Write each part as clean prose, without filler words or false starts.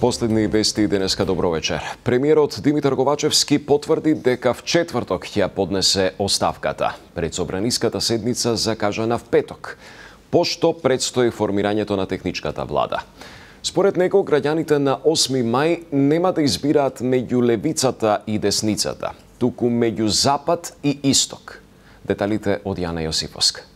Последни вести денеска, добро вечер. Премиерот Димитар Ковачевски потврди дека в четврток ќе поднесе оставката. Пред собраниската седница закажана в петок, пошто предстои формирањето на техничката влада. Според него, граѓаните на 8 мај нема да избираат меѓу левицата и десницата, туку меѓу запад и исток. Деталите од Јана Јосифовска.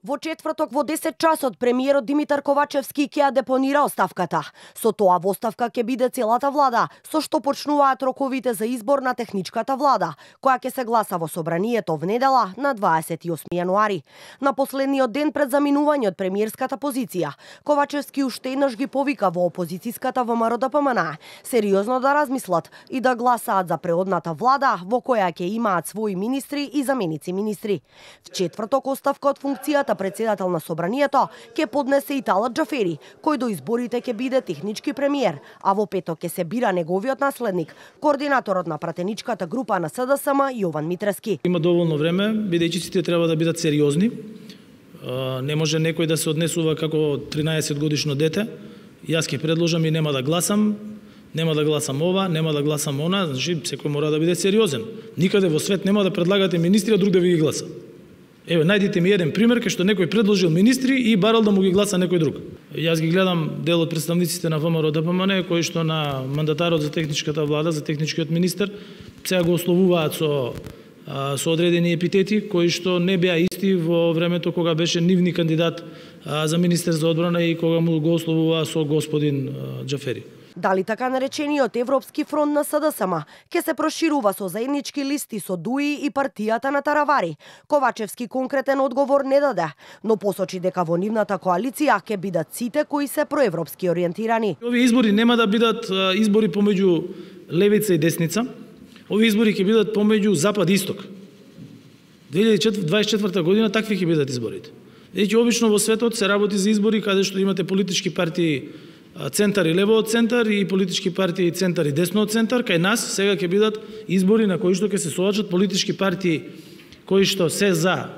Во четврток во 10 часот премиерот Димитар Ковачевски ќе ја депонира оставката. Со тоа во оставка ќе биде целата влада, со што почнуваат роковите за избор на техничката влада, која ќе се гласа во собранието внедела на 28 јануари. На последниот ден пред заминување од премиерската позиција, Ковачевски уште еднаш ги повика во опозицијската ВМРО-ДПМН сериозно да размислат и да гласаат за преодната влада во која ќе имаат своји министри и заменици министри. В четврток оставка од функцијата председател на собранието ќе поднесе и Талат Џафери, кој до изборите ќе биде технички премиер, а во петок ќе се бира неговиот наследник, координаторот на пратеничката група на СДСМ Јован Митрески. Има доволно време, бидејќи сите треба да бидат сериозни. Не може некој да се однесува како 13 годишно дете. Јас ќе предложам и нема да гласам ова, нема да гласам она, значи секој мора да биде сериозен. Никаде во свет нема да предлагате министри, а друг да ви ги гласа. Еве, најдите ми еден пример кај што некој предложил министри и барал да му ги гласа некој друг. Јас ги гледам дел од представниците на ВМРО-ДПМН кои што на мандатарот за техничката влада, за техничкиот министер, сега го ословуваат со одредени епитети кои што не беа исти во времето кога беше нивни кандидат за министер за одбрана и кога му го ословуваа со господин Џафери. Дали така наречениот Европски фронт на СДСМ ќе се проширува со заеднички листи со ДУИ и партијата на Таравари? Ковачевски конкретен одговор не даде, но посочи дека во нивната коалиција ќе бидат сите кои се проевропски ориентирани. Овие избори нема да бидат избори помеѓу левица и десница. Овие избори ќе бидат помеѓу запад и исток. 2024 година такви ќе бидат изборите. Значи обично во светот се работи за избори каде што имате политички партии центар и лево од центар и политички партии центар и десно од центар. Кај нас сега ќе бидат избори на кои што ќе се соочат политички партии кои што се за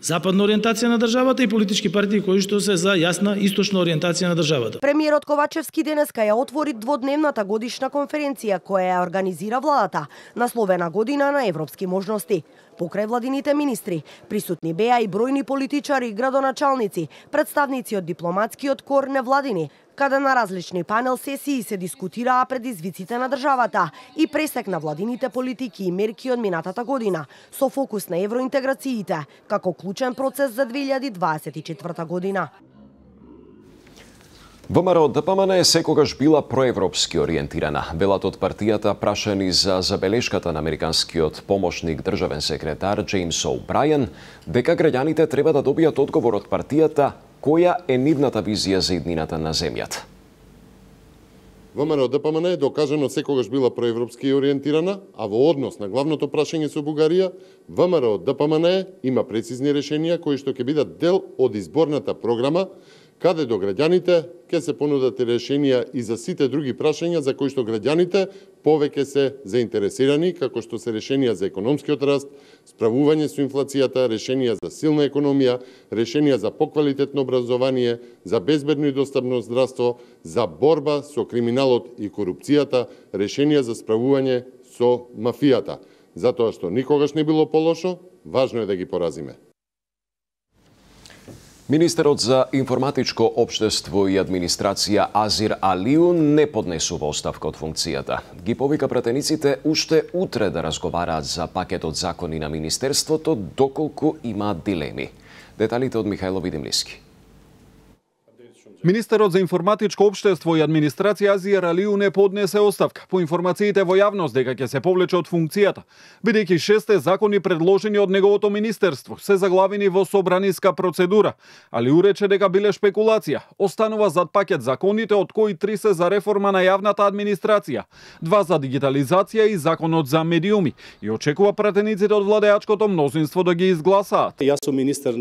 западна ориентација на државата и политички партии кои што се за јасна источна ориентација на државата. Премиерот Ковачевски денеска ја отвори дводневната годишна конференција која ја организира владата, насловена Година на европски можности. Покрај владините министри, присутни беа и бројни политичари и градоначалници, представници од дипломатскиот кор невладини, каде на различни панел сесии се дискутираа предизвиците на државата и пресек на владините политики и мерки од минатата година, со фокус на евроинтеграциите, како клучен процес за 2024 година. ВМРО-ДПМН секогаш била проевропски ориентирана. Велат од партијата прашани за забелешката на американскиот помошник државен секретар Џејмс О'Брајен дека граѓаните треба да добијат одговор од партијата која е нивната визија за иднината на земјата. ВМРО-ДПМН е докажано секогаш била проевропски ориентирана, а во однос на главното прашање со Бугарија, ВМРО-ДПМН има прецизни решенија кои што ќе бидат дел од изборната програма, каде до граѓаните ќе се понудат решенија и за сите други прашања за кои што граѓаните повеќе се заинтересирани, како што се решенија за економскиот раст, справување со инфлацијата, решенија за силна економија, решенија за поквалитетно образование, за безбедно и достапно здравство, за борба со криминалот и корупцијата, решенија за справување со мафијата. Затоа што никогаш не било полошо, важно е да ги поразиме. Министерот за информатичко општество и администрација Азир Алиу не поднесува оставка од функцијата. Ги повика пратениците уште утре да разговараат за пакетот закони на Министерството, доколку имаат дилеми. Деталите од Михајло Видимлиски. Министерот за информатичко општество и администрација Азир Алиу не поднесе оставка по информациите во јавност дека ќе се повлече од функцијата, бидејќи 6 закони предложени од неговото министерство се заглавени во собраниска процедура. Алиу рече дека биле шпекулација. Останува зад пакет законите од кои 3 се за реформа на јавната администрација, 2 за дигитализација и законот за медиуми, и очекува пратениците од владеачкото мнозинство да ги изгласаат. Јас сум министер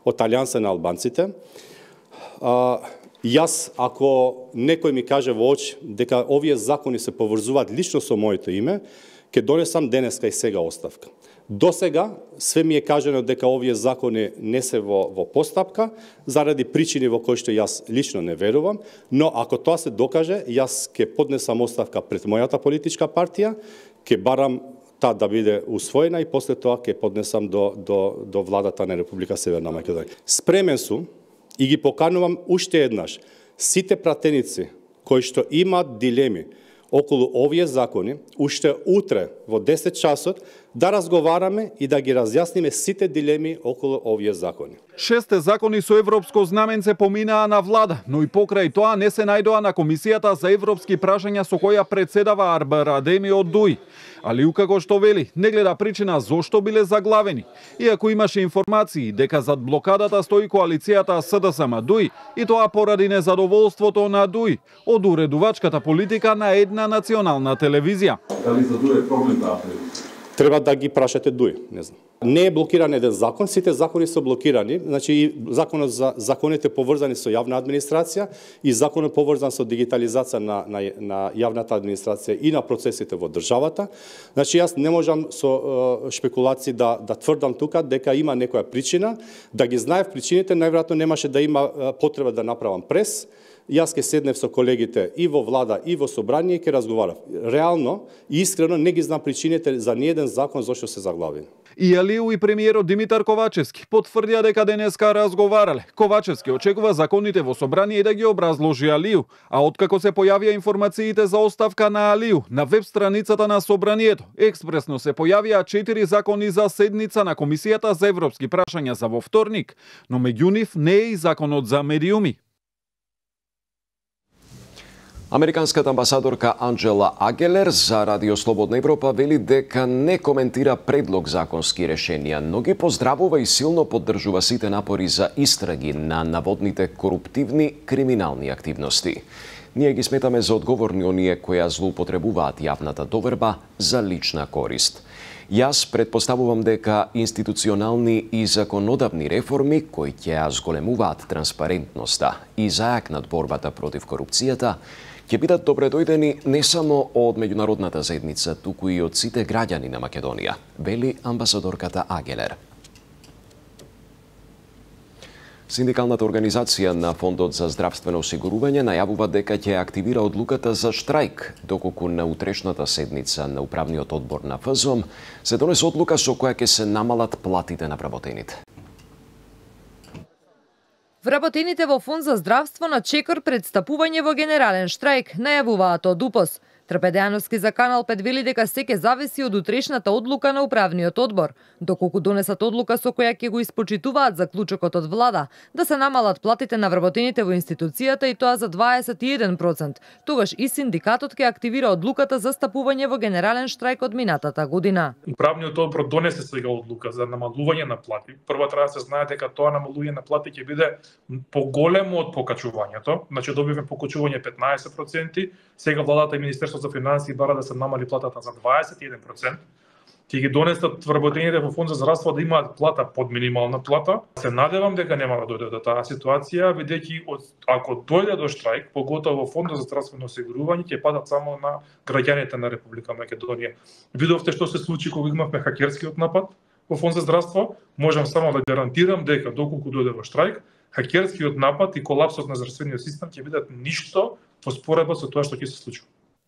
од Алијанса на албанците. Јас, ако некој ми каже во очи дека овие закони се поврзуваат лично со моето име, ќе донесам денеска и сега оставка. До сега све ми е кажано дека овие закони не се во постапка, заради причини во кои што јас лично не верувам, но ако тоа се докаже, јас ќе поднесам оставка пред мојата политичка партија, ќе барам таа да биде усвоена и после тоа ќе поднесам до владата на Република Северна Македонија. Спремен сум и ги поканувам уште еднаш сите пратеници кои што имаат дилеми околу овие закони, уште утре во 10 часот да разговараме и да ги разјасниме сите дилеми околу овие закони. 6 закони со европско знаменце поминаа на влада, но и покрај тоа не се најдоа на Комисијата за европски прашања со која председава Арбер Адеми од ДУИ. Алиу, како што вели, не гледа причина зошто биле заглавени. Иако имаше информации дека зад блокадата стои коалицијата СДСМ-ДУИ и тоа поради незадоволството на ДУИ од уредувачката политика на една национална телевизија. Дали за ДУИ е проблем таа телевизија? Треба да ги прашате ДУИ, не знам. Не е блокиран еден закон, сите закони се блокирани, значи и законот за законите поврзани со јавна администрација и законот поврзан со дигитализација на јавната администрација и на процесите во државата. Значи јас не можам со шпекулации да тврдам тука дека има некоја причина, да ги знаев причините, најверојатно немаше да има потреба да направам прес. Јас ќе седнев со колегите и во влада и во собрание и ќе разговарав. Реално и искрено не ги знам причините за ниеден закон зашто се заглавени. И Алиу и премиерот Димитар Ковачевски потврдија дека денеска разговарале. Ковачевски очекува законите во собрание и да ги образложи Алиу, а откако се појавија информациите за оставка на Алиу на веб страницата на собранието, експресно се појавија 4 закони за седница на Комисијата за европски прашања за во вторник, но меѓу нив не е и законот за медиуми. Американската амбасадорка Анджела Агелер за Радио Слободна Европа вели дека не коментира предлог законски решенија, но ги поздравува и силно поддржува сите напори за истраги на наводните коруптивни криминални активности. Ние ги сметаме за одговорни оние кои ја злоупотребуваат јавната доверба за лична корист. Јас предпоставувам дека институционални и законодавни реформи кои ќе ја зголемуваат транспарентноста и зајакнат борбата против корупцијата ќе бидат добредојдени не само од меѓународната заедница, туку и од сите граѓани на Македонија, вели амбасадорката Агелер. Синдикалната организација на Фондот за здравствено осигурување најавува дека ќе активира одлуката за штрајк, доколку на утрешната седница на управниот одбор на ФЗОМ се донесе одлука со која ќе се намалат платите на вработените. Вработените во Фонд за здравство на чекор пред стапување во генерален штрајк, најавуваат од УПОС. Трпедеановски за Канал 5 вели дека се ќе зависи од утрешната одлука на управниот одбор, доколку донесат одлука со која ќе го испочитуваат заклучокот од влада да се намалат платите на вработените во институцијата и тоа за 21%. Тогаш и синдикатот ќе активира одлуката за стапување во генерален штрајк од минатата година. Управниот одбор донесе сега одлука за намалување на плати. Прво треба да се знае дека тоа намалување на плати ќе биде поголемо од покачувањето. Значи добивме покачување 15%, сега владата и Министерството за финансии бара да се намали платата за 21%. Ќе ги донесат вработените во Фонд за здравство да имаат плата под минимална плата. Се надевам дека нема да дојде до таа ситуација, бидејќи ако дојде до штрајк, поготово во Фондот за здравствено осигурување ќе падат само на граѓаните на Република Македонија. Видовте што се случи кога имавме хакерскиот напад во Фонд за здравство. Можам само да гарантирам дека доколку дојде во штрајк, хакерскиот напад и колапсот на здравствениот систем ќе бидат ништо во споредба со тоа што ќе се случи.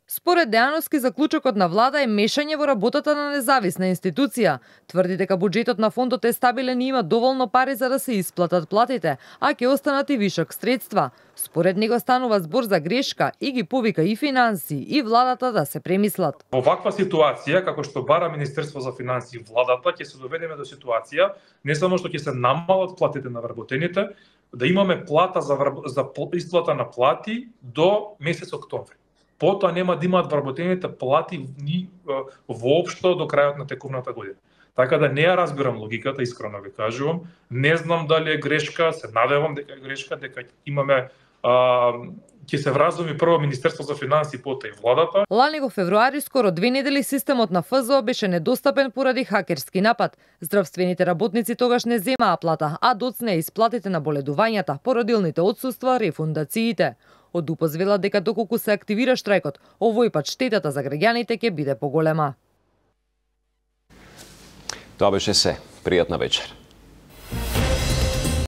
Според Дејановски, заклучокот на влада е мешање во работата на независна институција. Тврди дека буџетот на фондот е стабилен и има доволно пари за да се исплатат платите, а ќе останат и вишок средства. Според него станува збор за грешка и ги повика и финансии и владата да се премислат. Во ваква ситуација, како што бара Министерство за финансии и владата, ќе се доведеме до ситуација не само што ќе се намалат платите на вработените, да имаме плата за исплата на плати до месец октомври. Потоа нема да имаат вработените плати ни воопшто до крајот на текувната година. Така да не ја разбирам логиката, искрено ви кажувам. Не знам дали е грешка, се надевам дека е грешка, дека имаме ќе се вразуми прво Министерство за финансии, потоа и владата. Лани во февруари, скоро 2 недели, системот на ФЗО беше недостапен поради хакерски напад. Здравствените работници тогаш не земаа плата, а доцне исплатите на боледувањата, породилните отсуства, рефундациите. Од УПОС велат дека доколку се активира штрајкот, овој пат штетата за граѓаните ќе биде поголема. Тоа беше се. Пријатна вечер.